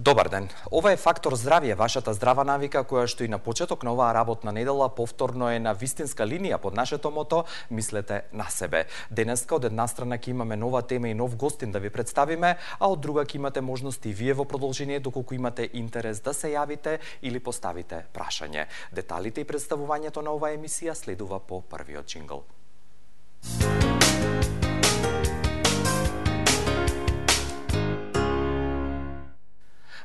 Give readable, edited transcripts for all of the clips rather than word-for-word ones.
Добар ден. Ова е Фактор здравје, вашата здрава навика која што и на почеток на оваа работна недела повторно е на вистинска линија под нашето мото "Мислете на себе". Денеска од една страна ќе имаме нова тема и нов гостин да ви представиме, а од друга ќе имате можност и вие во продолжение доколку имате интерес да се јавите или поставите прашање. Деталите и представувањето на оваа емисија следува по првиот џингл.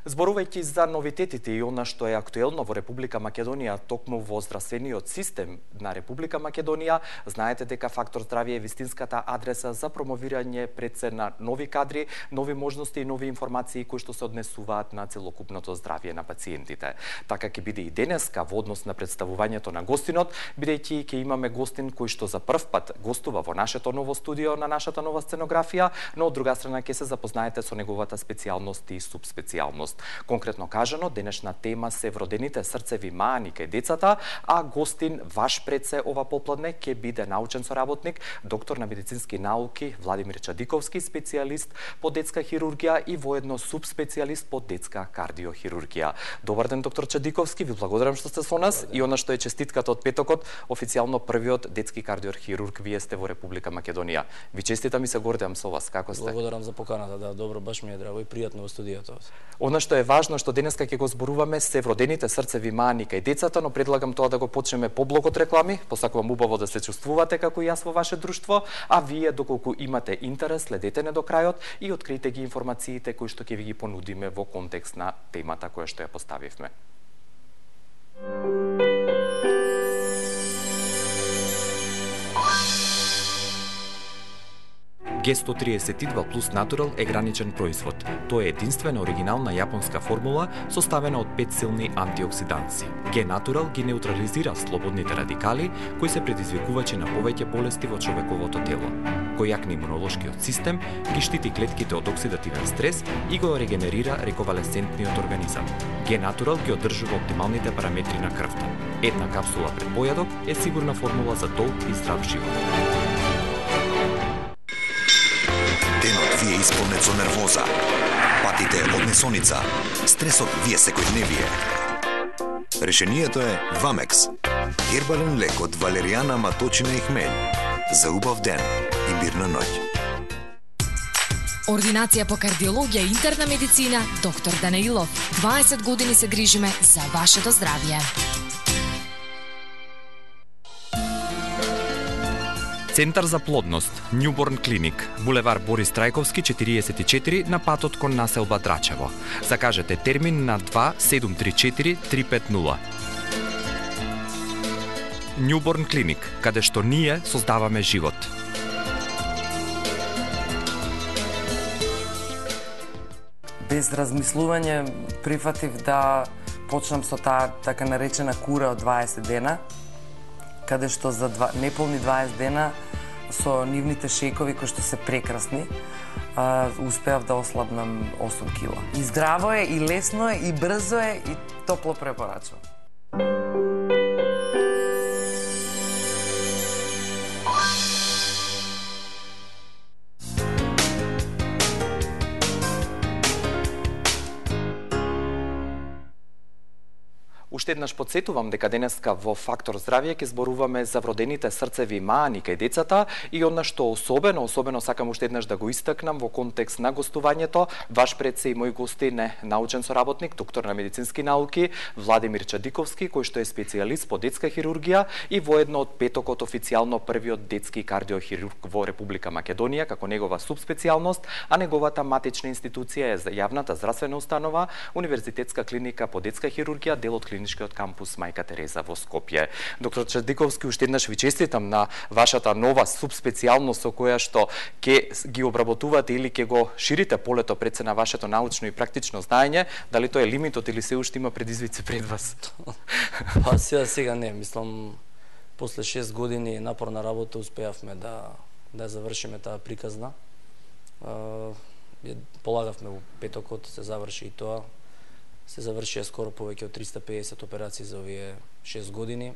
Зборувајќи за новитетите и она што е актуелно во Република Македонија, токму во здравствениот систем на Република Македонија, знаете дека Фактор здравје е вистинската адреса за промовирање пред се на нови кадри, нови можности и нови информации кои што се однесуваат на целокупното здравје на пациентите. Така ќе биде и денеска во однос на представувањето на гостинот, бидејќи ќе имаме гостин кој што за прв пат гостува во нашето ново студио на нашата нова сценографија, но од друга страна ќе се запознаете со неговата специјалност и субспецијалност. Конкретно кажано, денешна тема се вродените срцеви маани кај децата, а гостин ваш пред се ова попладне ќе биде научен соработник, доктор на медицински науки Владимир Чадиковски, специјалист по детска хирургија и воедно субспецијалист по детска кардиохирургија. Добар ден, доктор Чадиковски, ви благодарам што сте со нас и она што е честитката од петокот, официјално првиот детски кардиохирург вие сте во Република Македонија. Ви честитам и се гордеам со вас. Како сте? Благодарам за поканата, да, добро, баш ми е драго и пријатно во студиото. Она што е важно што денеска ќе го зборуваме се вродените срцеви маани кај децата, но предлагам тоа да го почнеме по блок од реклами. Посакувам убаво да се чувствувате како и јас во ваше друштво, а вие доколку имате интерес, следете не до крајот и откријте ги информациите кои што ќе ви ги понудиме во контекст на темата која што ја поставивме. Г132 плюс Натурал е граничен производ. Тоа е единствена оригинална јапонска формула составена од 5 силни антиоксиданци. Г-Натурал ги неутрализира слободните радикали кои се предизвикувачи на повеќе болести во човековото тело. Кој јакне имунолошкиот систем, ги штити клетките од оксидативен стрес и го регенерира рековалесцентниот организам. Г-Натурал ги одржува оптималните параметри на крвта. Една капсула пред појадок е сигурна формула за долг и здрав живот. Денот ви е исполнет со нервоза, патите од несоница, стресот ви е секојдневие. Решението е Вамекс, гербален лек од валеријана, маточина и хмелј. За убав ден и мирна ноќ. Ординација по кардиологија и интерна медицина, доктор Данаилов. 20 години се грижиме за вашето здравје. Центар за плодност, Newborn Clinic, булевар Борис Трајковски 44 на патот кон населба Драчево. Закажете термин на 2734 350. Newborn Clinic, каде што ние создаваме живот. Без размислување прифатив да почнам со таа така наречена кура од 20 дена, каде што за неполни 20 дена со нивните шекови кои што се прекрасни, успеав да ослабнам 8 кила. И здраво е, и лесно е, и брзо е, и топло препорачувам. Уште еднаш подсетувам дека денеска во Фактор здравје ќе зборуваме за вродените срцеви маани кај децата и она што особено сакам уште еднаш да го истакнам во контекст на гостувањето. Ваш пред се и мој гостин е научен соработник, доктор на медицински науки Владимир Чадиковски, кој што е специјалист по детска хирургија и воедно од петокот официјално првиот детски кардиохирург во Република Македонија како негова субспецијалност, а неговата матична институција е јавната здравствена установа Универзитетска клиника по детска хирургија, дел од клиничкиот кампус Мајка Тереза во Скопје. Доктор Чадиковски, уште еднаш ви честитам на вашата нова субспецијалност со која што ќе ги обработувате или ќе го ширите полето пред се на вашето научно и практично знаење. Дали тоа е лимитот или се уште има предизвици пред вас? Па сега не, мислам, после 6 години напорна работа успеавме да завршиме таа приказна. Полагавме во петокот, се заврши и тоа. Се завршија скоро повеќе од 350 операции за овие 6 години.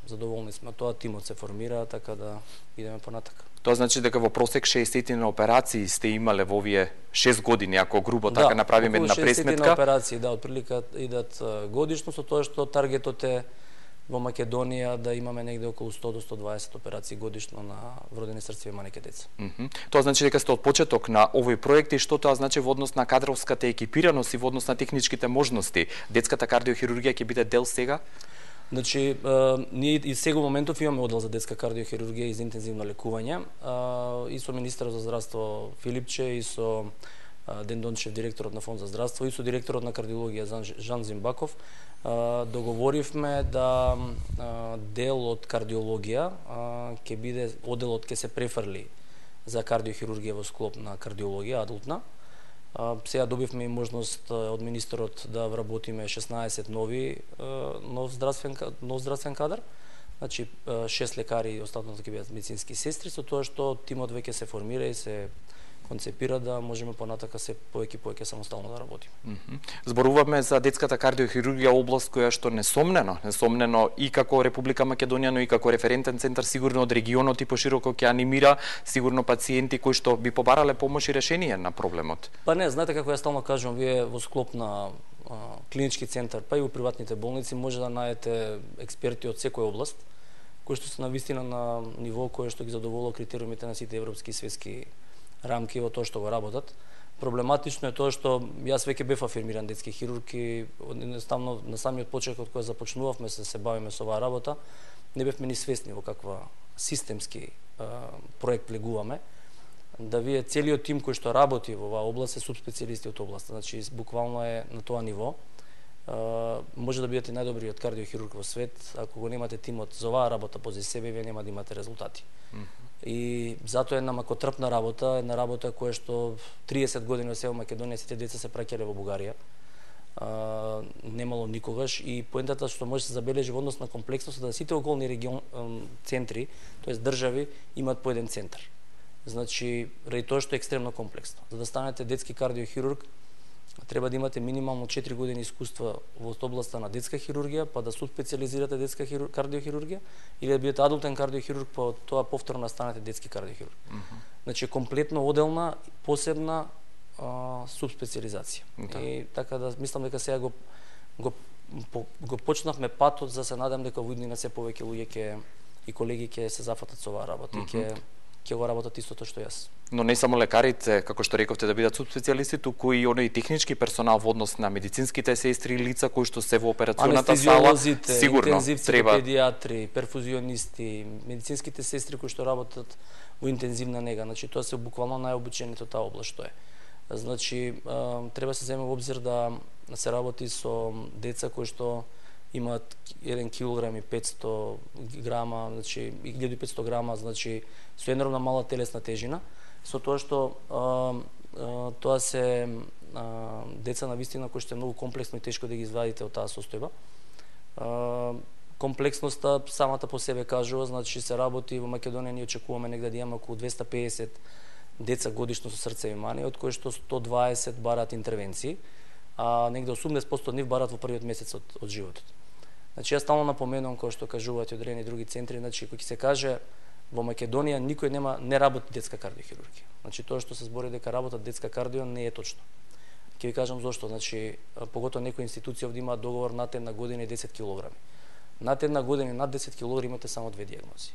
Задоволни сме тоа, тимот се формира, така да идеме понатака. Тоа значи дека во просек 60 операции сте имале во овие 6 години, ако грубо така направиме една пресметка. Да, околу 60 операции, да, отприлика идат годишно, со тоа што таргетот е во Македонија да имаме негде околу 100 до 120 операции годишно на вродени срцеви мајки деца. Тоа значи дека сте од почеток на овој проект и што тоа значи во однос на кадровската екипираност и во однос на техничките можности? Детската кардиохирургија ќе биде дел сега? Значи, ние и сега во моментов имаме оддел за детска кардиохирургија и за интензивно лекување. И со министерот за здравство Филипче, и со Ден Дончев, директорот на Фонд за здравство, и со директорот на кардиологија Жан Зимбаков, договоривме да дел од кардиологија ќе биде, одделот ќе се префрли за кардиохирургија во склоп на кардиологија адултна. Сега добивме и можност од министерот да вработиме 16 нов здравствен кадар. Значи 6 лекари и останатото ќе бидат медицински сестри, со тоа што тимот веќе се формира и се концепира да можеме понатака се повеќе самостално да работиме. Зборуваме за детската кардиохирургија, област која што несомнено и како Република Македонија, но и како референтен центар сигурно од регионот и пошироко ќе анимира сигурно пациенти кои што би побарале помош и решение на проблемот. Па не, знаете како ја стално кажувам, вие во склоп на клинички центар, па и во приватните болници може да најдете експерти од секоја област, кои што се навистина на ниво кое што ги задоволува критериумите на сите европски и светски рамки во тоа што го работат. Проблематично е тоа што јас веќе бев афирмиран детски хирург и едноставно на самиот почеток кога започнувавме се бавиме со оваа работа, не бевме ни свесни во каква системски проект влегуваме. Да вие целиот тим кој што работи во оваа област е субспецијалисти од областа, значи буквално е на тоа ниво. Може да бидете најдобриот кардиохирург во свет, ако го немате тимот за оваа работа пози себе, вие нема да имате резултати. И затоа една макотрпна работа, една работа која што 30 години во Македонија сите деца се праќале во Бугарија. Немало никогаш и поентата што може да се забележи во однос на комплексност да сите околни центри, тоест држави, имаат по еден центар. Значи, ради тоа што е екстремно комплексно. За да станете детски кардиохирург, треба да имате минимално 4 години искуство во областа на детска хирургија, па да субспецијализирате детска кардиохирургија, или да бидете адултен кардиохирург, па тоа повторно станете детски кардиохирург. Значи, комплетно оделна, посебна субспецијализација. И така да мислам дека сега го почнавме патот, за се надам дека во иднина се повеќе луѓе и колеги ќе се зафатат со оваа работа и ќе го работат истото што јас. Но не само лекарите, како што рековте, да бидат субспецијалисти, туку и оној технички персонал во однос на медицинските сестри, лица кои што се во операционата сала, сигурно треба педиатри, перфузионисти, медицинските сестри кои што работат во интензивна нега, значи тоа се буквално најобучените од таа област што е. Значи треба се земе во обзир да се работи со деца кои што имаат 1 килограм и 500 грама, значи 1500 грама, значи со енормно мала телесна тежина, со тоа што тоа се деца на вистина кои што е многу комплексно и тешко да ги извадите од таа состојба. Комплексноста самата по себе кажува, значи се работи во Македонија, ние очекуваме негде да имаме околу 250 деца годишно со срцеви мани, од кои што 120 бараат интервенции, а негде 80% од нив бараат во првиот месец од животот. Значи, јас стално напоменувам, кој што кажуваат и одредени други центри, значи, кој ќе се каже, во Македонија никој не работи детска кардиохирургија. Значи, тоа што се збори дека работат детска кардио не е точно. Ќе ви кажам зошто, значи, поготоа некои институции овде имаат договор над една година и 10 килограми. Над една година и над 10 килограми имате само две дијагнози.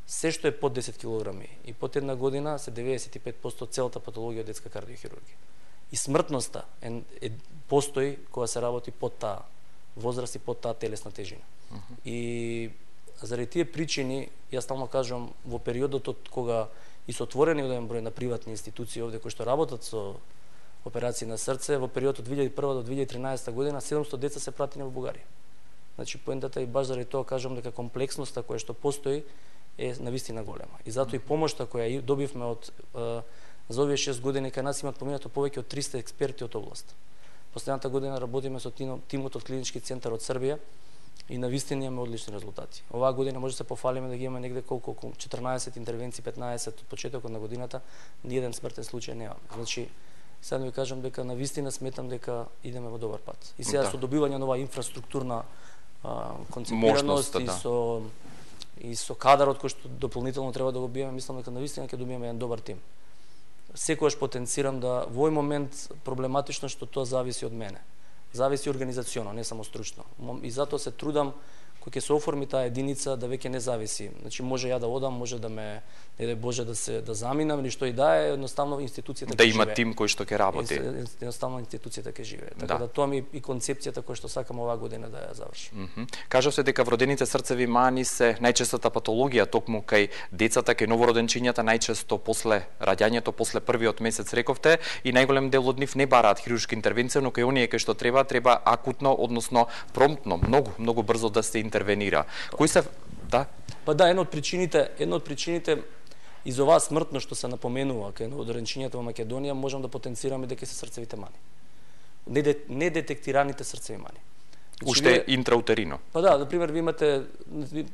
Се што е под 10 килограми и под една година се 95% целата патологија од детска кардиохирургија. И смртноста постои кога се работи под таа возраст и под таа телесна тежина. И заради тие причини, јас стално кажувам, во периодот од кога и со отворени оден број на приватни институции овде кои што работат со операции на срце, во периодот од 2001 до 2013 година 700 деца се пратени во Бугарија. Значи, поентата и баш заради тоа кажувам дека комплексноста која што постои е навистина голема. И затоа и помошта која добивме од за овие 6 години кај нас имаат поминато повеќе од 300 експерти од област. Последната година работиме со тимот од клинички центар од Србија и навистина имаме одлични резултати. Оваа година може да се пофалиме да ги имаме негде колку 14 интервенции, 15 од почетокот на годината, ниеден смртен случај немаме. Значи, сега ви кажам дека навистина сметам дека идеме во добар пат. И сега со добивање на оваа инфраструктурна концепираност и со и со кадарот кој што дополнително треба да го биеме, мислам дека навистина ќе добиеме еден добар тим. Секогаш потенцирам да во овој момент проблематично што тоа зависи од мене. Зависи организационо, не само стручно. И затоа се трудам кој ќе се оформи таа единица да веќе не зависи. Значи може ја да одам, може да ме не дај Боже да заминам или што и да е, едноставно институцијата да има тим кој што ќе работи. Едноставно институцијата ќе живее. Така да тоа ми и концепцијата која што сакам оваа година да ја завршам. Кажав се дека вродените срцеви мани се најчестата патологија токму кај децата, кај новороденчињата, најчесто после раѓањето, после првиот месец рековте, и најголем дел од нив не бараат хируршка интервенција, но кај оние кај што треба акутно, односно промптно, многу брзо да се интервенира. Кои се Па да, една од причините и за оваа смртност што се напоменува кај новороденчињата во Македонија, можам да потенцираме дека се срцевите мани. Недетектираните срцеви мани. Уште интраутерино. Па да, например, ви имате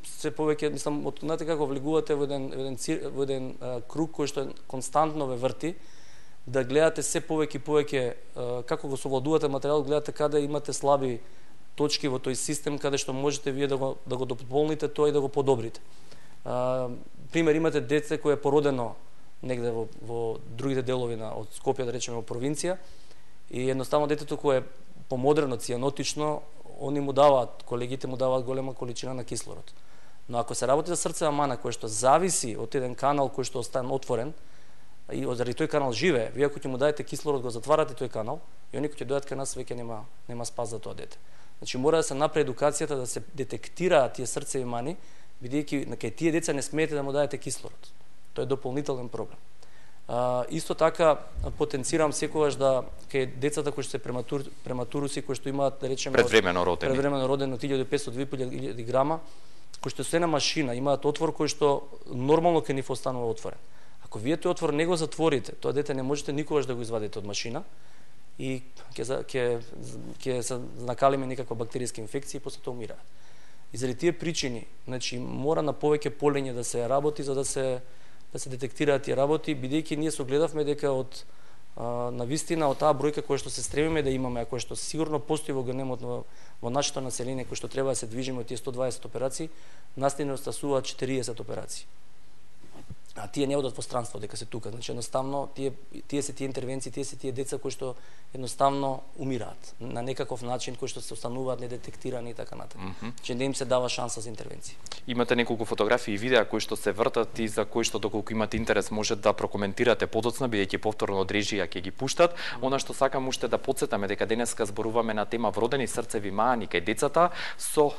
се повеќе, мислам, знаете како влегувате во еден круг кој што константно ве врти, да гледате се повеќе како го совладувате материјалот, гледате каде имате слаби точки во тој систем, каде што можете вие да го дополните тоа и да го подобрите. Пример, имате дете кое е породено негде во другите делови од Скопје, да речеме во провинција, и едноставно детето кое е помодрено, цијанотично, они му даваат, колегите му даваат голема количина на кислород. Но ако се работи за срцева мана кој што зависи од еден канал кој што остане отворен, и заради тој канал живее, вие ако ќе му дадете кислород, го затварате тој канал, и они кои ќе дојдат кај нас веќе нема спас за тоа дете. Значи мора да се направи едукацијата да се детектираат тие срцеви мани, бидејќи кај тие деца не смеете да му дадете кислород. Тоа е дополнителен проблем. Исто така потенцирам секогаш да кај децата кои што се прематуруси, кои што имаат, да речеме, предвремено родени од 1500-2000 грама, кои што се на машина, имаат отвор кој што нормално ќе нив останува отворен. Ако вие тој отвор не го затворите, тоа дете не можете никогаш да го извадите од машина и ќе се накалиме некаква бактеријска инфекција и после тоа умираат. И заради тие причини, значи мора на повеќе полење да се работи за да се детектираат тие работи, бидејќи ние согледавме дека од навистина од таа бројка која што се стремиме да имаме, а која што сигурно постои во генемот во нашето население, кој што треба да се движиме од тие 120 операции, нас не остасуваат 40 операции. А тие не одат во странство дека се тука, значи едноставно тие се тие интервенции, тие се тие деца кои што едноставно умираат на некаков начин, кои што се остануваат недетектирани и така натаму. Че не им се дава шанса за интервенција. Имате неколку фотографии и видеа кои што се вртат и за кои што доколку имате интерес може да прокоментирате подоцна, бидејќи повторно од режија ќе ги пуштат. Она што сакам уште да потсетаме дека денеска зборуваме на тема вродени срцеви мани кај децата со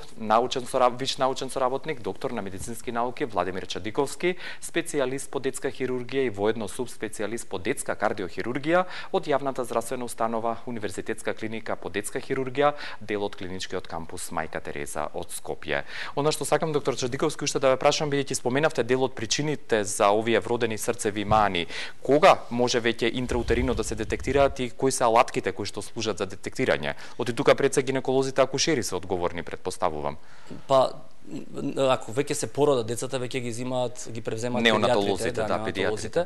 виш научен соработник, доктор на медицински науки Владимир Чадиковски, специјалист по детска хирургија и воедно субспецијалист по детска кардиохирургија од јавната здравствена установа Универзитетска клиника по детска хирургија, дел од клиничкиот кампус Мајка Тереза од Скопје. Она што сакам, доктор Чадиковски, уште да ве прашам, бидејќи споменавте дел од причините за овие вродени срцеви мани, кога може веќе интраутерино да се детектираат и кои се алатките кои што служат за детектирање? Од тука пред се гинеколозите акушери се одговорни, предпоставувам. Па ако веќе се породат децата, веќе ги земаат, ги превземаат неонатолозите.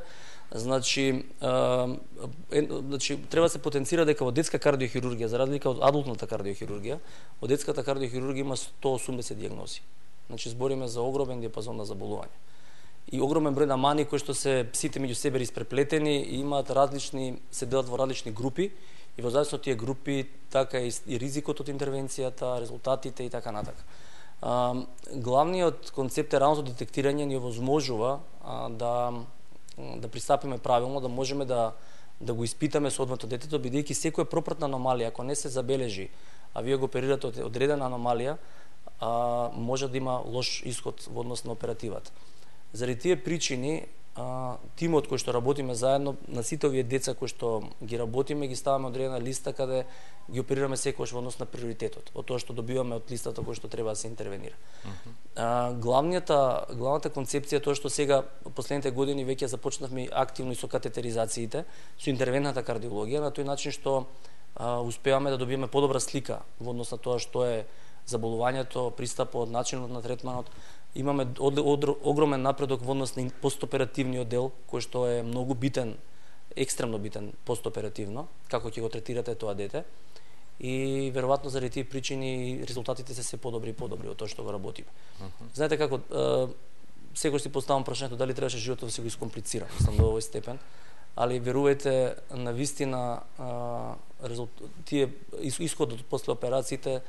Значи треба да се потенцира дека во детска кардиохирургија, за разлика од адултната кардиохирургија, во детската кардиохирургија има 180 дијагнози. Значи збориме за огромен диапазон на заболувања. И огромен број на мани кои што се сите меѓу себе испреплетени и имаат се делат во различни групи и во зависност од тие групи така и ризикот од интервенцијата, резултатите и така натака. Главниот концепт е раното детектирање ни овозможува да пристапиме правилно, да можеме да го испитаме соодветно детето, бидејќи секоја пропратна аномалија, ако не се забележи, а вие го оперирате од одредена аномалија, може да има лош исход во однос на оперативата. Заради тие причини, тимот кој што работиме заедно, на сите овие деца кои што ги работиме, ги ставаме одредена листа каде ги оперираме секојаш во однос на приоритетот, од тоа што добиваме од листата кој што треба да се интервенира. Главната концепција е тоа што сега последните години веќе започнавме активно и со катетеризациите, со интервентната кардиологија, на тој начин што успеваме да добиеме подобра слика во однос на тоа што е заболувањето, пристапот, начинот на третманот. Имаме огромен напредок во однос на постоперативниот дел, кој што е многу битен, екстремно битен постоперативно, како ќе го третирате тоа дете. и веројатно заради тие причини резултатите се подобри и подобри од тоа што го работиме. Знаете како секогаш си поставам прашањето дали требаше животот да се го искомплицира, мислам до овој степен, али верувајте, навистина тие исходот после операциите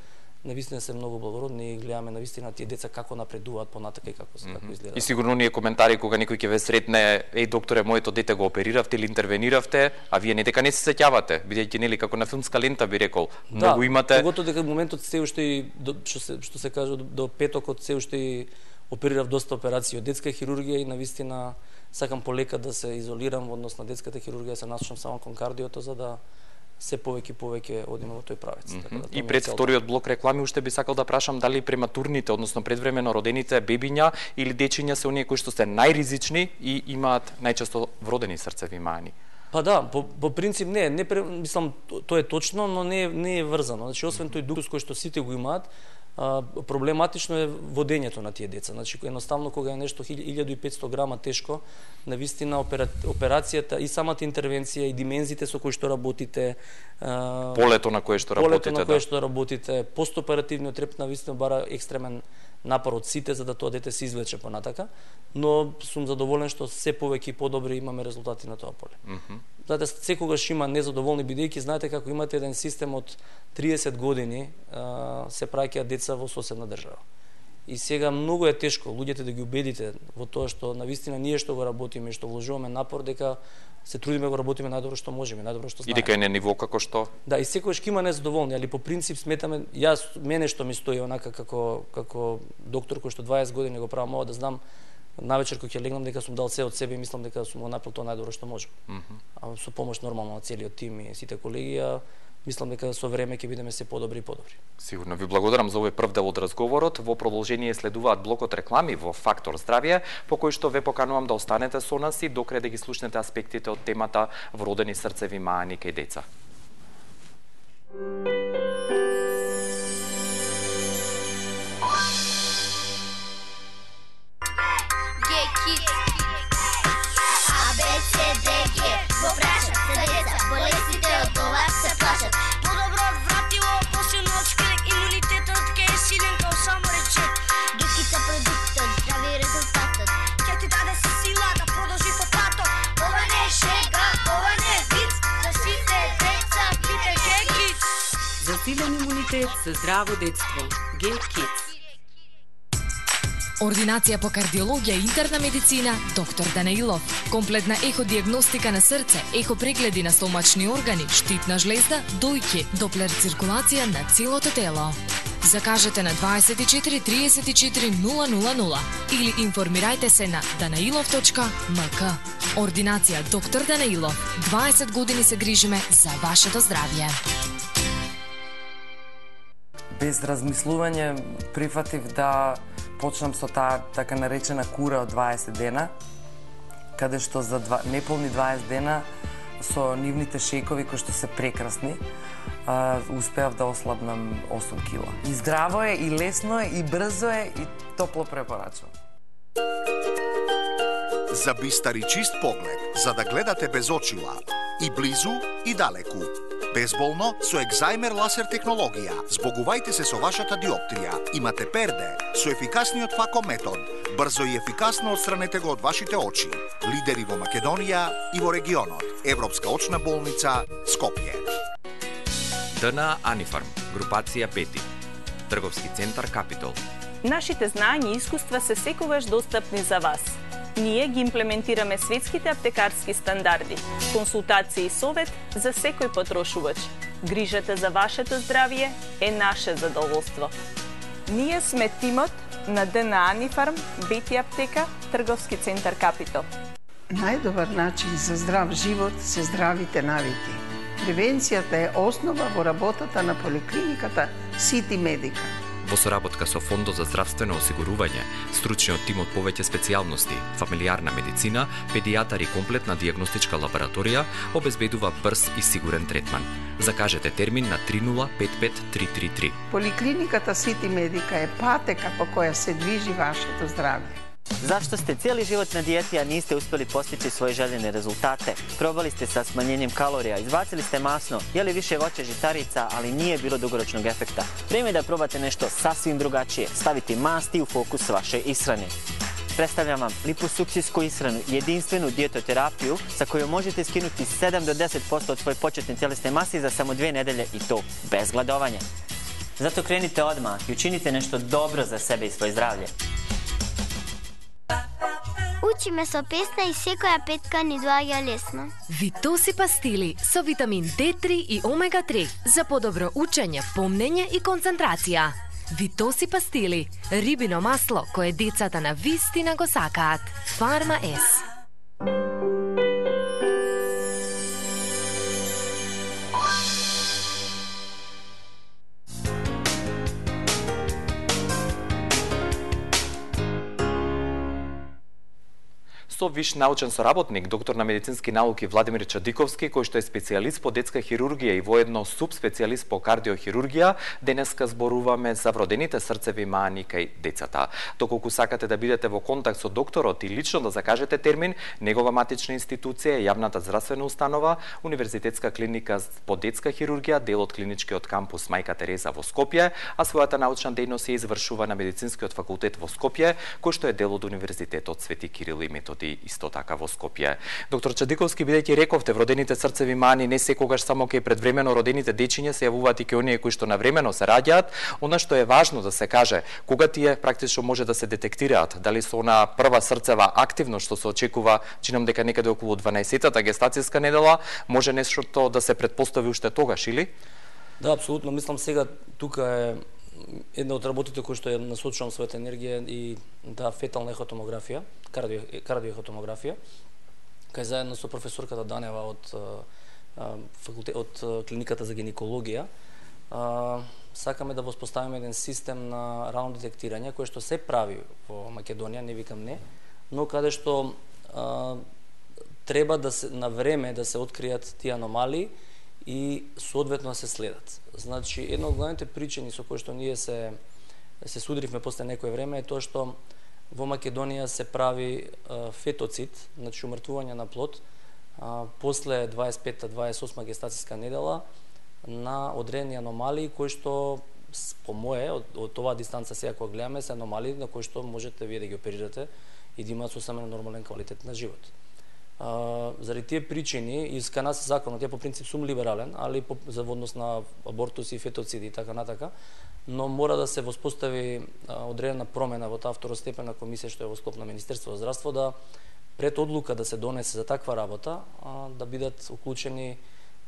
навистина се многу благородни и гледаме навистина тие деца како напредуваат понатака и како изгледаат. И сигурно ние коментари кога некој ќе ве сретне, еј докторе, моето дете го опериравте или интервениравте, а вие не дека не се сеќавате, бидејќи нели како на филмска лента би рекол, многу имате. Да, поготово дека моментот се уште што се каже до петокот се уште оперирав доста операции од детска хирургија и навистина сакам полека да се изолирам во однос на детската хирургија, се насочам само кон кардиото за да се повеќе одиме во тој правец. Така да, и пред вториот блок реклами уште би сакал да прашам дали прематурните, односно предвремено родените бебиња или дечиња се оние кои што се најризични и имаат најчесто вродени срцеви мани. Па да, по принцип мислам тоа е точно, но не е врзано. Значи освен тој дукус кој што сите го имаат, проблематично е водењето на тие деца. Значи едноставно кога е нешто 1500 грама тешко, навистина операцијата и самата интервенција и димензите со кои што работите, полето на кое што работите, постоперативниот треп навистина бара екстремен напор од сите за да тоа дете се извлече понатака, но сум задоволен што се повеќе и подобри имаме резултати на тоа поле. Знаете, секогаш има незадоволни бидејќи знаете како имате еден систем од 30 години се праќаат деца во соседна држава. И сега многу е тешко луѓето да ги убедите во тоа што навистина ние што го работиме и што вложуваме напор дека се трудиме го работиме најдобро што можеме, најдобро што знаеме. И дека е на ниво како што. Да, и секогаш ќе има незадоволни, али по принцип сметаме, мене што ми стои онака како доктор кој што 20 години го правам ова, да знам навечер кога ќе легнам дека сум дал се од себе и мислам дека сум го направил тоа најдобро што можам. А со помош нормално на целиот тим и сите колеги, мислам дека со време ќе бидеме се подобри и подобри. Сигурно ви благодарам за овој прв дел од разговорот. Во продолжение следуваат блокот реклами во Фактор здравје, по кој што ве поканувам да останете со нас и докрај да ги слушнете аспектите од темата вродени срцеви мани кај деца. Засилен имунитет за здраво детство. G-Kids. Ординација по кардиологија и интерна медицина, доктор Данаилов. Комплетна еходиагностика на срце, ехопрегледи на стомачни органи, штитна жлезда, дојки, доплер циркулација на целото тело. Закажете на 24 34 000 или информирајте се на danailov.mk. Ординација доктор Данаилов. 20 години се грижиме за вашето здравје. Без размислување прифатив да почнам со таа така наречена кура од 20 дена, каде што за неполни 20 дена со нивните шејкови кои што се прекрасни, успеав да ослабнам 8 кила. И здраво е, и лесно е, и брзо е, и топло препорачувам. За бистар и чист поглед, за да гледате без очила, и близу, и далеку. Безболно со екзајмер ласер технологија. Збогувајте се со вашата диоптрија. Имате перде со ефикасниот фако метод. Брзо и ефикасно отстранете го од вашите очи. Лидери во Македонија и во регионот. Европска очна болница Скопје. ДНА Анифарм, групација 5. Трговски центар Капитол. Нашите знања и искуства се секогаш достапни за вас. Ние ги имплементираме светските аптекарски стандарди. Консултација и совет за секој потрошувач. Грижата за вашето здравје е наше задоволство. Ние сме тимот на ДНА Анифарм, Бети аптека, Трговски центар Капитол. Најдобар начин за здрав живот се здравите навики. Превенцијата е основа во работата на поликлиниката Сити Медика. Во соработка со Фондот за здравствено осигурување, стручниот тим од повеќе специјалности, фамилиарна медицина, педијатар и комплетна дијагностичка лабораторија обезбедува брз и сигурен третман. Закажете термин на 3055333. Поликлиниката Сити Медика е патека по која се движи вашето здравје. Zašto ste cijeli život na dijeti, a niste uspjeli postići svoje željene rezultate? Probali ste sa smanjenjem kalorija, izbacili ste masno, jeli više voća, žitarica, ali nije bilo dugoročnog efekta. Vrijeme je da probate nešto sasvim drugačije, staviti masti u fokus vaše ishrane. Predstavljam vam liposuksijsku ishranu, jedinstvenu dijetoterapiju sa kojom možete skinuti 7 do 10% od svoje početne tjelesne mase za samo 2 nedelje i to bez gladovanja. Zato krenite odmah i učinite nešto dobro za sebe i svoje zdravlje. Учиме со песна и секоја петка ни доаѓа лесно. Витоси пастили со витамин D3 и омега-3 за подобро учење, помнење и концентрација. Витоси пастили, рибино масло кое децата на вистина го сакаат. Фарма С. Со виш научен соработник, доктор на медицински науки Владимир Чадиковски, кој што е специјалист по детска хирургија и воедно субспецијалист по кардиохирургија, денеска зборуваме за вродените срцеви мани кај децата. Доколку сакате да бидете во контакт со докторот и лично да закажете термин, негова матична институција е јавната здравствена установа, Универзитетска клиника по детска хирургија, дел од клиничкиот кампус Мајка Тереза во Скопје, а својата научна дејност ја извршува на Медицинскиот факултет во Скопје, кој што е дел од Универзитетот Свети Кирил и Методи исто така во Скопје. Доктор Чадиковски, бидејќи рековте, вродените срцеви мани не секогаш само кај предвремено родените дечиња се јавуваат и кај оние кои што навремено се раѓаат, она што е важно да се каже, кога тие практично може да се детектираат, дали со она прва срцева активност што се очекува, чинам дека некаде околу 12-тата гестацијска недела, може нешто да се предпостави уште тогаш, или? Да, апсолутно. Мислам сега тука е една од работите кои што ја насочувам својата енергија и фетална ехотомографија, кардиоехотомографија, кај заедно со професорката Данева од клиниката за гинекологија, сакаме да воспоставиме еден систем на рано детектирање, кој што се прави во Македонија, не викам не, но каде што треба да се на време да се откријат тие аномалии и соодветно да се следат. Значи, една од главните причини со кои што ние се судривме после некое време е тоа што во Македонија се прави фетоцид, значи умртвување на плод, после 25-28 гестацијска недела на одредени аномалии кои што по мое од оваа дистанца сега кога гледаме се аномалии на кои што можете вие да ги оперирате и да имаат сосема нормален квалитет на живот. Заради тие причини, и кај нас законот, ја по принцип сум либерален, али за однос на абортуси, фетоциди и така натака, но мора да се воспостави одредена промена во таа второстепена комисија што е во склоп на Министерство за здравство, да пред одлука да се донесе за таква работа, да бидат уклучени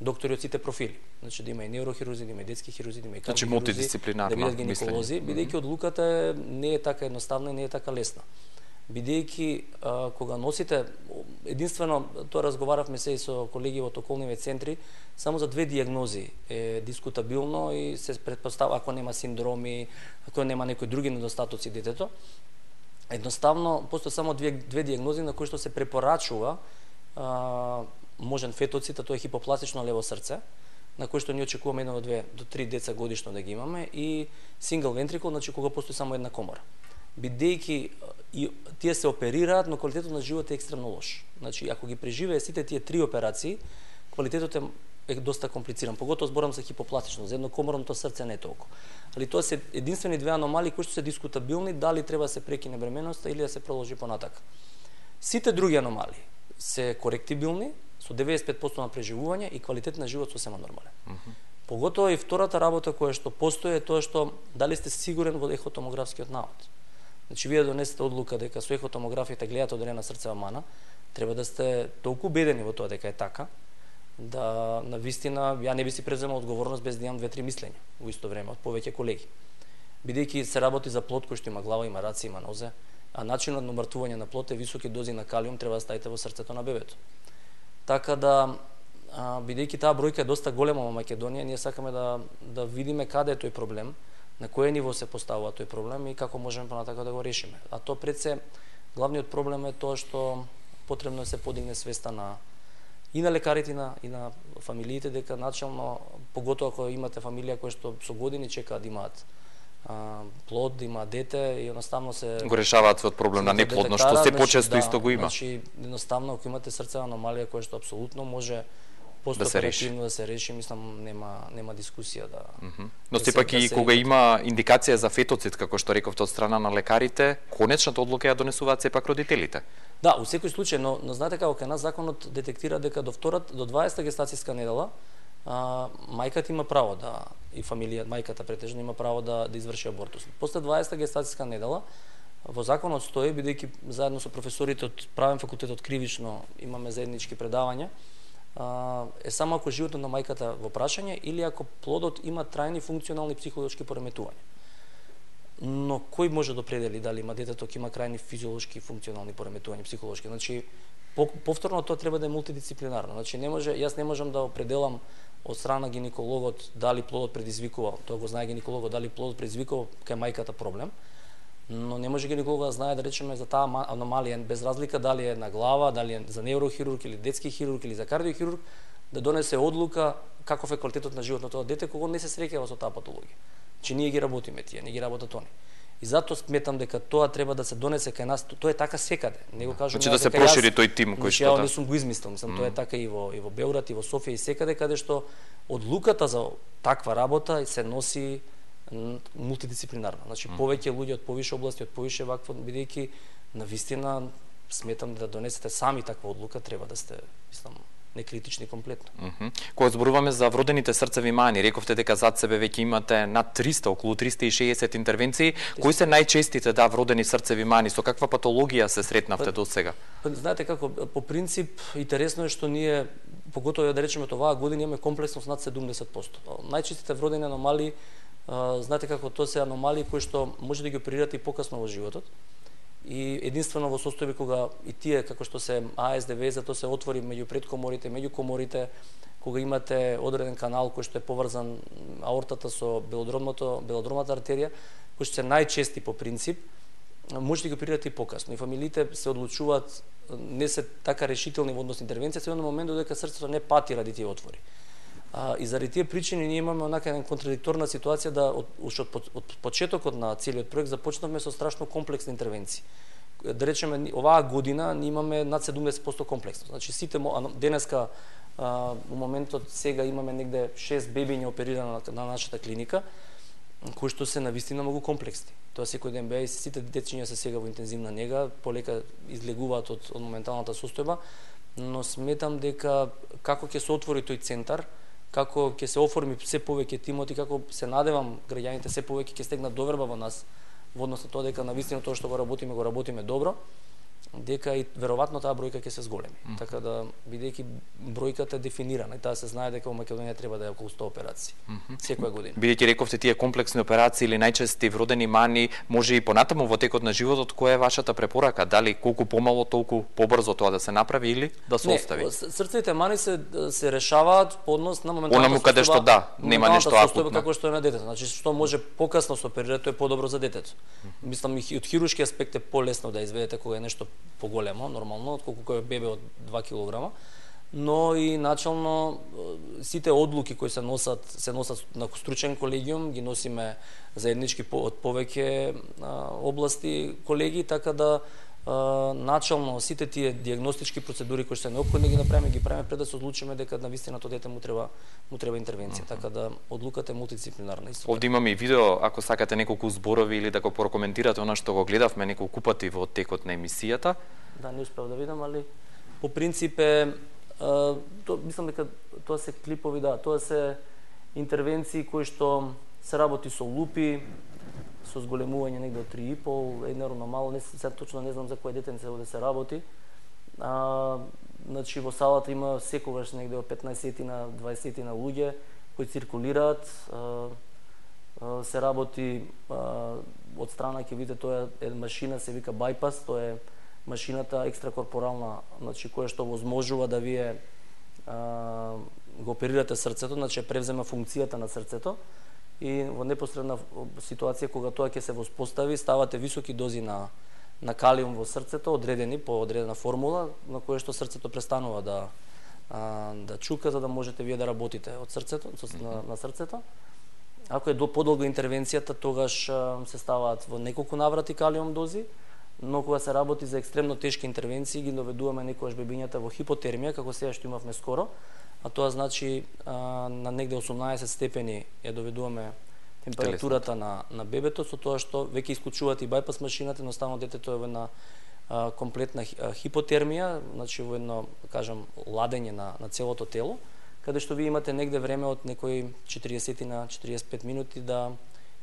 доктори од сите профили. Значи да има и неурохирурзи, да има и детски хирурзи, да има и кардиохирурзи, да бидат гинеколози, бидејќи одлуката не е така едноставна и не е така лесна. Бидејќи кога носите, единствено тоа разговаравме се и со колеги од околниве центри, само за 2 дијагнози е дискутабилно и се претпоставува ако нема синдроми, ако нема некои други недостатоци детето. Едноставно постои само 2 дијагнози на кои што се препорачува можен фетоцид, а тоа е хипопластично лево срце, на кој што ние очекуваме 1 до 2 до 3 деца годишно да ги имаме, и сингл вентрикул, значи кога постои само една комора. Бидејќи тие се оперираат, но квалитетот на живот е екстремно лош. Значи, ако ги преживее сите тие 3 операции, квалитетот е доста комплициран. Поготово зборам за хипопластично, за еднокоморното срце не толку. Али тоа се единствени 2 аномалии кои што се дискутабилни, дали треба да се прекине бременоста или да се продолжи понатака. Сите други аномалии се коректибилни, со 95% на преживување и квалитет на живот сосема нормален. Поготово и втората работа која што постои е тоа што дали сте сигурен во ехотомографскиот навод. Значи, вие донесете одлука дека со ехотомографијата гледате одредена срцева мана, треба да сте толку убедени во тоа дека е така, да на вистина ја не би си преземал одговорност без да имам 2-3 мислења во исто време од повеќе колеги. Бидејќи се работи за плод кој што има глава, има раци, има нозе, а начинот на умртвување на плод е високи дози на калиум треба да ставите во срцето на бебето. Така да, бидејќи таа бројка е доста голема во Македонија, ние сакаме да видиме каде е тој проблем, на кое ниво се поставува тој проблем и како можеме понатака да го решиме. А тоа пред се, главниот проблем е тоа што потребно е се подигне свеста и на лекарите и на фамилиите дека начално, поготоа ако имате фамилија кои што со години чекаат да имаат плод, има дете и едноставно се го решаваат од проблем на неплодност, што се почесто исто го има. Значи едноставно ако имате срцева аномалија која што апсолутно може постоперативно да се реши, мислам нема дискусија да. Но сепак и кога има индикација за фетоцид, како што рековте од страна на лекарите, конечната одлука ја донесуваат сепак родителите. Да, у секој случај, но знаете како кај нас законот детектира дека до 20-та гестацијска недела мајката има право да и фамилија мајката претежно има право да изврши абортус. После 20-та гестацијска недела во законот стои, бидејќи заедно со професорите од правен факултет од кривично имаме заеднички предавања, е само ако животот на мајката во прашање или ако плодот има трајни функционални психолошки пореметувања. Но кој може да определи дали има детето ќе има крајни физиолошки функционални пореметувања психолошки? Значи повторно тоа треба да е мултидисциплинарно. Значи јас не можам да определам од страна гинекологот дали плодот предизвикува, тоа го знае гинекологот, дали плодот предизвикува кај мајката проблем, но не може гинекологот да знае, да речеме, за таа аномалија, без разлика дали е на глава, дали е за неврохирург или детски хирург или за кардиохирург, да донесе одлука каков е квалитетот на живот на тоа дете кога не се среќава со таа патологија. Че ние ги работиме тие, не ги работат они. И затоа сметам дека тоа треба да се донесе кај нас, тоа е така секаде. Не го кажувам. Значи да се прошири тој тим кој што не сум го измислил, тоа е така и во Белград и во Софија и секаде каде што одлуката за таква работа се носи мултидисциплинарно. Значи повеќе луѓе од повише области, од повише вакво, бидејќи навистина сметам да донесете сами таква одлука, треба да сте, мислам, некритични комплетно. Кога зборуваме за вродените срцеви мани, рековте дека зад себе веќе имате над 300, околу 360 интервенции. Кои се најчестите вродени срцеви мани? Со каква патологија се сретнавте до сега? Знаете како, по принцип, интересно е што ние, поготово да речеме оваа година, имаме комплексност над 70%. Најчестите вродени аномалии, знаете како, тоа се аномалии кои што може да ги оперирате и покасно во животот. И единствено во состојби кога и тие како што се АСДВ, зато се отвори меѓу предкоморите, меѓу коморите, кога имате одреден канал кој што е поврзан аортата со белодромната артерија, кои што се најчести по принцип, може да ги оперирате и покасно. И фамилиите се одлучуваат, не се така решителни во однос интервенција, се на момент додека срцето не пати ради тие отвори. И заради тие причини ние имаме онака една контрадикторна ситуација да од почетокот на целиот проект започнавме со страшно комплексни интервенции. Да речеме, оваа година ние имаме над 70% комплексно. Значи сите денеска во моментот сега имаме негде 6 бебиња оперирани на нашата клиника, кои што се навистина многу комплексни. Тоа секој ден беа и сите дечиња се сега во интензивна нега, полека излегуваат од моменталната состојба, но сметам дека како ќе се отвори тој центар, како ќе се оформи се повеќе тимоти, како се надевам граѓаните се повеќе ќе стегнат доверба во нас во однос на тоа дека навистина тоа што го работиме добро, дека и веројатно таа бројка ќе се зголеми. Така да бидејќи бројката е дефинирана и таа се знае дека во Македонија треба да е околу 100 операции секоја година. Бидејќи рековте тие комплексни операции или најчести вродени мани, може и понатаму во текот на животот, која е вашата препорака? Дали колку помало, толку побрзо тоа да се направи или да се остави? Срцевите мани се решаваат по однос на моменталната онаму каде што нема нешто акутно. Како што е на детето. Значи што може покасно се оперира, тоа е подобро за детето. Мислам и од хируршки аспект е полесно да изведете кога е нешто поголемо, нормално, отколку кој е бебе од 2 килограма, но и начално сите одлуки кои се носат на стручен колегиум, ги носиме заеднички од повеќе области колеги, така да начално сите тие диагностички процедури кои се неопходни ги правиме пред да се одлучиме дека навистина тоа дете му треба интервенција, така да одлуката е мултидисциплинарна. Овде имаме и видео, ако сакате неколку зборови или да го прокоментирате она што го гледавме неколку пати во текот на емисијата. Да, не успеав да видам, али по принцип е мислам дека тоа се клипови, да, тоа се интервенции кои што се работи со лупи, со зголемување негде од 3,5, еднарно мало, сега точно не знам за кое детенце овде се работи. Значи во салата има секогаш негде од 15 на 20 на луѓе кои циркулираат. Се работи од страна, ќе видите, тоа е машина, се вика байпас, тоа е машината екстракорпорална, значи која што возможува да вие го оперирате срцето, значи превзема функцијата на срцето. И во непосредна ситуација кога тоа ќе се воспостави, ставате високи дози на калиум во срцето, одредени по одредена формула, на која што срцето престанува да чука, за да можете вие да работите од срцето, на срцето. Ако е подолга интервенцијата, тогаш се ставаат во неколку наврати калиум дози, но кога се работи за екстремно тешки интервенции, ги доведуваме некогаш бебињата во хипотермија, како сега што имавме скоро, а тоа значи на негде 18 степени ја доведуваме температурата на бебето, со тоа што веќе исклучуваат и бајпас машината, едноставно детето е во една комплетна хипотермија, значи во едно, кажам, ладење на целото тело, каде што ви имате негде време од некои 40 на 45 минути да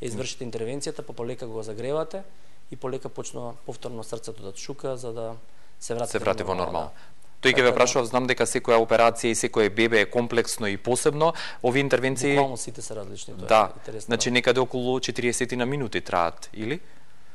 извршите интервенцијата, па полека го загревате и полека почнува повторно срцето да чука за да се врати во нормално. Тој ќе ве прашував, знам дека секоја операција и секој бебе е комплексно и посебно. Овие интервенции буквално сите се различни, тоа да, е интересно. Значи некаде околу 40 на минути траат, или?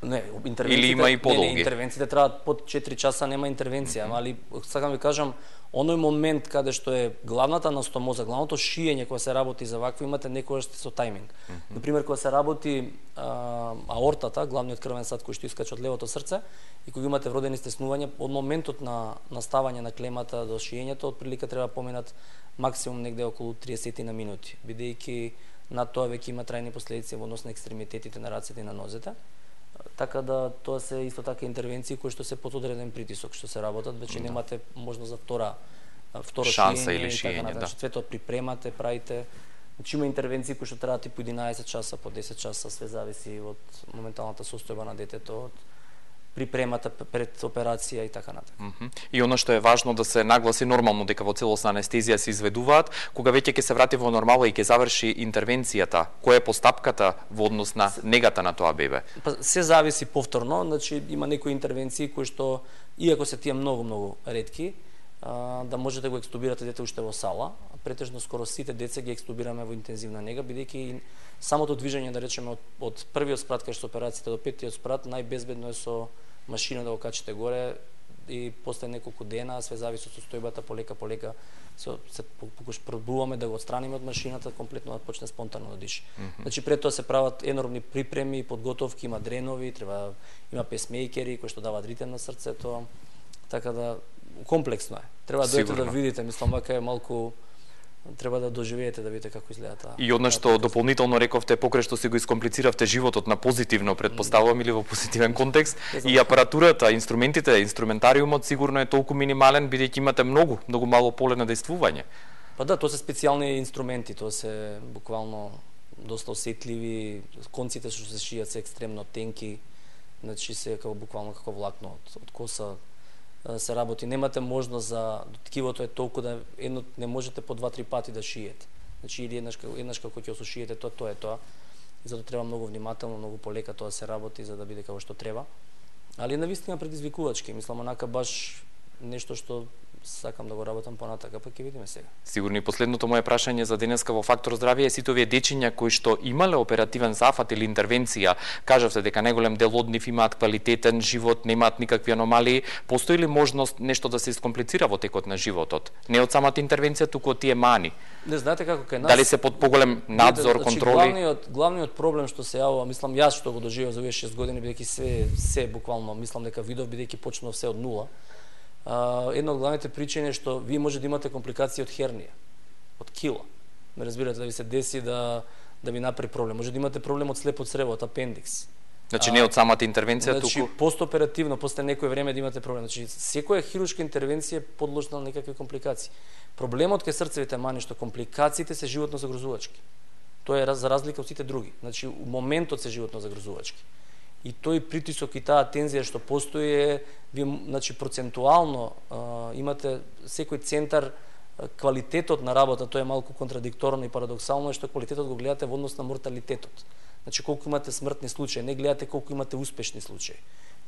Не, или има и подолги. Не, интервенциите траат под 4 часа, нема интервенција, али сакам ви кажам, оној момент каде што е главната настомоза, главното шиење кога се работи за вакво, имате некогаш со тајминг. Например, кога се работи аортата, главниот крвен сад кој што искача од левото срце, и кога имате вродени стеснувања, од моментот на наставање на клемата до шиењето, отприлика треба поминат максимум негде околу 30 на минути, бидејќи над тоа веќе има трајни последици во однос на екстремитетите на рацете и на нозете. Така да тоа се исто така интервенции кои што се под одреден притисок што се работат, веќе немате можност за второ шанса шиење или шиење, така, значи цветот припремате, правите. Значи има интервенции кои што траат и по 11 часа, по 10 часа, све зависи од моменталната состојба на детето, од припремата пред операција и така натаму. И она што е важно да се нагласи нормално дека во целосна анестезија се изведуваат, кога веќе ќе се врати во нормала и ќе заврши интервенцијата, која е постапката во однос на негата на тоа бебе? Па се зависи повторно, значи има некои интервенции кои што иако се тие многу ретки, да можете да го екстубирате дете уште во сала, претежно скоро сите деца ги екстубираме во интензивна нега, бидејќи самото движење, да речеме, од првиот спрат кај што операцијата до петтиот спрат, најбезбедно е со машина да го качите горе и после неколку дена, све зависи од состојбата, полека се пробуваме да го отстраниме од машината, комплетно да почне спонтано да диша. Значи пред тоа се прават енормни припреми, подготовки, има дренови, има песмејкери кои што даваат ритем на срцето, така да комплексно е. Треба да дојдете да видите, мислам вака е малку треба да доживеете да видите како изгледа таа. И одно што дополнително рековте, покрај што си го искомплициравте животот на позитивно, предпоставувам, или во позитивен контекст, и апаратурата, инструментите, инструментариумот сигурно е толку минимален, бидејќи имате многу мало поле на дејствување. Па да, тоа се специјални инструменти, тоа се буквално доста осетливи, конците што се шијат се екстремно тенки, значи се буквално како влакно од коса се работи, немате можност за ткивото е толку да едно не можете по 2-3 пати да шиете. Значи или еднаш како ќе осушиете тоа е тоа. И затоа треба многу внимателно, многу полека тоа се работи за да биде како што треба. Али навистина предизвикувачки, мислам онака баш нешто што сакам да го работам понатака, па ќе видиме сега. Сигурно и последното мое прашање за денеска во Фактор здравје е сите овие дечиња кои што имале оперативен зафат или интервенција, кажавте дека најголем дел од нив имаат квалитетен живот, немаат никакви аномалии, постои ли можност нешто да се искомплицира во текот на животот? Не од самата интервенција, туку од тие мани. Не знаете како кај нас. Дали се под поголем надзор, контроли? Главниот проблем што се јавува, мислам јас што го доживеав за овие 6 години, бидејќи се буквално мислам дека видов, бидејќи почнав се од нула. Една од главните причини е што вие може да имате компликации од хернија, од кила. Ме разбирате, да ви се деси да ви направи проблем. Може да имате проблем од слепо црево, од апендикс. Значи не од самата интервенција, туку постоперативно, после некој време да имате проблем. Значи секоја хируршка интервенција е подложна на некакви компликации. Проблемот кај срцевите мани што компликациите се животно загрозувачки. Тоа е за разлика од сите други. Значи моментот се животно загрозувачки. И тој притисок и таа тензија што постои е, значи процентуално имате секој центар, квалитетот на работа, тоа е малку контрадикторно и парадоксално, е што квалитетот го гледате во однос на морталитетот. Значи колку имате смртни случаи, не гледате колку имате успешни случаи.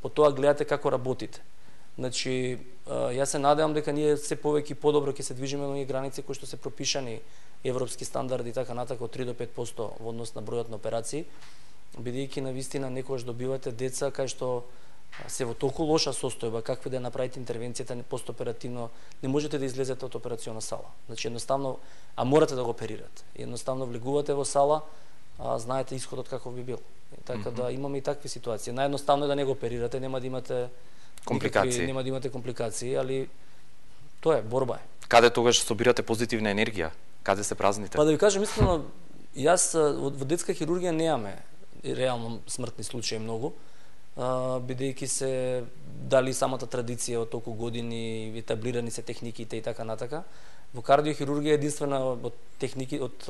По тоа гледате како работите. Значи јас се надевам дека ние се повеќе и подобро ќе се движиме на оние граници кои што се пропишани европски стандарди и така натака од 3 до 5% во однос на бројот на операции, бидејќи навистина некогаш добивате деца кај што се во толку лоша состојба, какви да направите интервенцијата постоперативно, не можете да излезете од операциона сала. Значи едноставно, а морате да го оперирате. Едноставно влегувате во сала, знаете исходот каков би бил. Така да имаме и такви ситуации. Наједноставно е да не го оперирате, нема да имате компликации, нема да имате компликации, али тоа е борба е. Каде тогаш собирате позитивна енергија? Каде се празните? Па да ви кажам искрено, Јас во детска хирургија немаме реално смртни случаи многу, бидејќи се дали самата традиција од толку години, етаблирани се техниките и така натака. Во кардиохирургија е единствена од техники од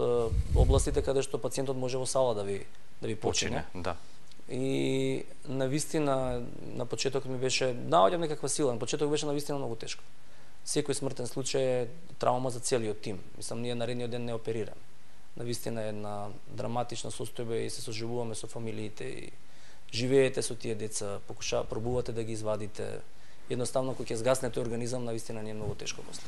областите каде што пациентот може во сала да ви почине. Да. И навистина на почетокот ми беше наоѓам некаква сила, на почетокот беше навистина многу тешко. Секој смртен случај е травма за целиот тим. Мислам, ние наредниот ден не оперираме. Навистина е една драматична состојба и се соживуваме со фамилиите и живеете со тие деца, пробувате да ги извадите. Едноставно кога ќе згаснете организам, навистина не е многу тешко после.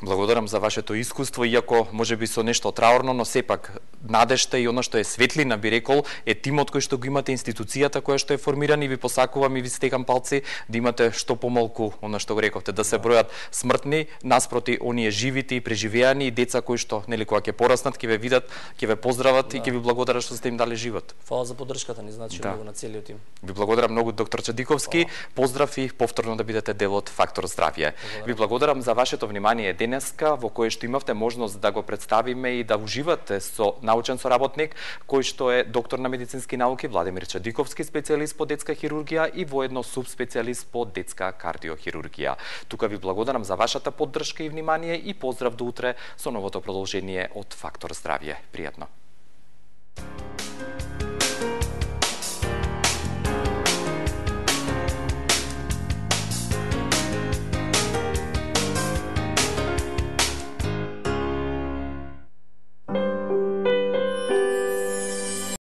Благодарам за вашето искуство, иако можеби со нешто траурно, но сепак надежта и она што е светлина, би рекол, е тимот кој што го имате, институцијата која што е формирана, и ви посакувам и ви стекам палци да имате што помалку, она што го рековте, да се бројат смртни наспроти оние живите и преживеани и деца кои што, нели, кога ќе пораснат, ќе ве видат, ќе ве поздрават и ќе ви благодарат што сте им дали живот. Фала за поддршката, ни значи многу на целиот тим. Ви благодарам многу, доктор Чадиковски. Поздрав и повторно да бидете дел од Фактор здравје. Ви благодарам за вашето внимание денеска, во кое што имавте можност да го представиме и да уживате со научен соработник, кој што е доктор на медицински науки Владимир Чадиковски, специјалист по детска хирургија и воедно субспецијалист по детска кардиохирургија. Тука ви благодарам за вашата поддршка и внимание и поздрав до утре со новото продолжение од Фактор здравје. Пријатно.